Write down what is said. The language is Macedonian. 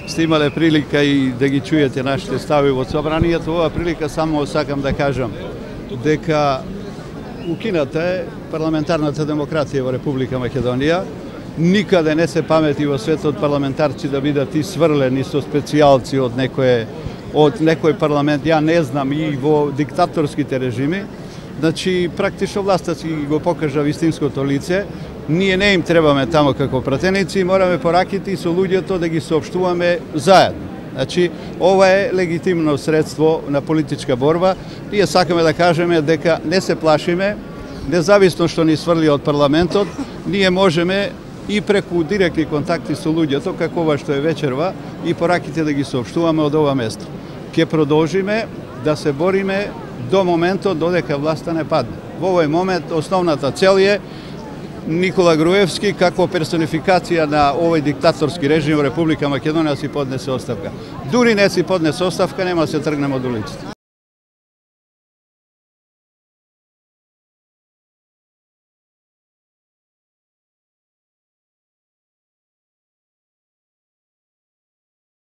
сте имале прилика и да ги чуете нашите стави во собранието. Ова прилика само сакам да кажам дека укината е парламентарната демократија во Република Македонија. Никаде не се памети во светот парламентарци да бидат сврлени со специјалци од некој парламент. Ја не знам и во диктаторските режими. Значи, практично власта си го покажа вистинското лице. Ние не им требаме тамо како пратеници, мораме пораките и со луѓето да ги соопштуваме заедно. Значи, ова е легитимно средство на политичка борба. Ние сакаме да кажеме дека не се плашиме, независно што ни сврли од парламентот, ние можеме и преку директни контакти со луѓето, како ова што е вечерва, и пораките да ги соопштуваме од ова место. Ке продолжиме да се бориме до моментот додека власта не падне. Во овој момент основната цел е Никола Груевски како персонификација на овој диктаторски режим во Република Македонија си поднесе оставка. Дури не си поднесе оставка, нема се тргнемо од улицата.